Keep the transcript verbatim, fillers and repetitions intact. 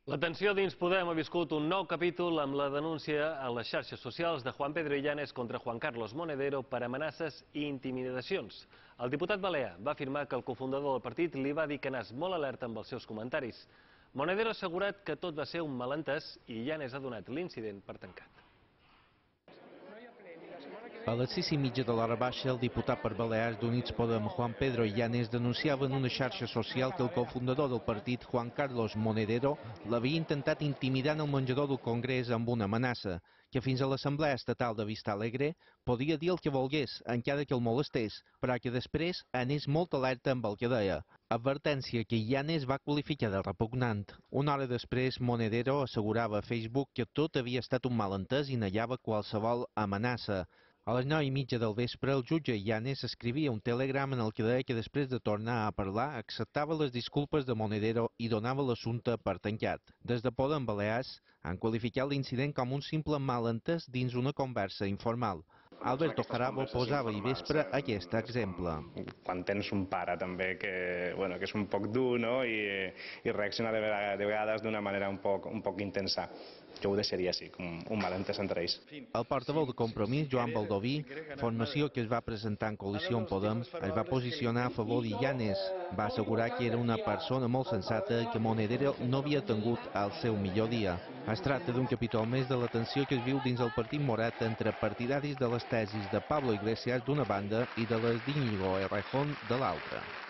L'atenció dins Podem ha viscut un nou capítol amb la denúncia a les xarxes socials de Juan Pedro Illanes contra Juan Carlos Monedero per amenaces i intimidacions. El diputat balear va afirmar que el cofundador del partit li va dir que anés molt alerta amb els seus comentaris. Monedero ha assegurat que tot va ser un malentès i Illanes ha donat l'incident per tancat. A les sis i mitja de l'hora baixa, el diputat per Balears d'Units Podem, Juan Pedro Illanes, denunciava en una xarxa social que el cofundador del partit, Juan Carlos Monedero, l'havia intentat intimidar en el menjador del Congrés amb una amenaça, que fins a l'Assemblea Estatal de Vista Alegre podia dir el que volgués, encara que el molestés, però que després anés molt alerta amb el que deia. Advertència que Illanes va qualificar de repugnant. Una hora després, Monedero assegurava a Facebook que tot havia estat un malentès i negava qualsevol amenaça. A les nou i mitja del vespre, el jutge Illanes escrivia un telegram en el que deia que després de tornar a parlar acceptava les disculpes de Monedero i donava l'assumpte per tancat. Des de Podem Balears han qualificat l'incident com un simple malentès dins una conversa informal. Alberto Jarabo posava ahir vespre aquest exemple. Quan tens un pare també que, bueno, que és un poc dur, no? I, i reacciona de vegades d'una manera un poc, un poc intensa. Jo ho deixaria així, com un malentès entre ells. El portaveu de Compromís, Joan Baldoví, formació que es va presentar en coalició amb Podem, es va posicionar a favor d'Illanes. Va assegurar que era una persona molt sensata i que Monedero no havia tingut el seu millor dia. Es tracta d'un capítol més de la tensió que es viu dins el partit morat entre partidaris de les tesis de Pablo Iglesias d'una banda i de les d'Iñigo Errejón de l'altra.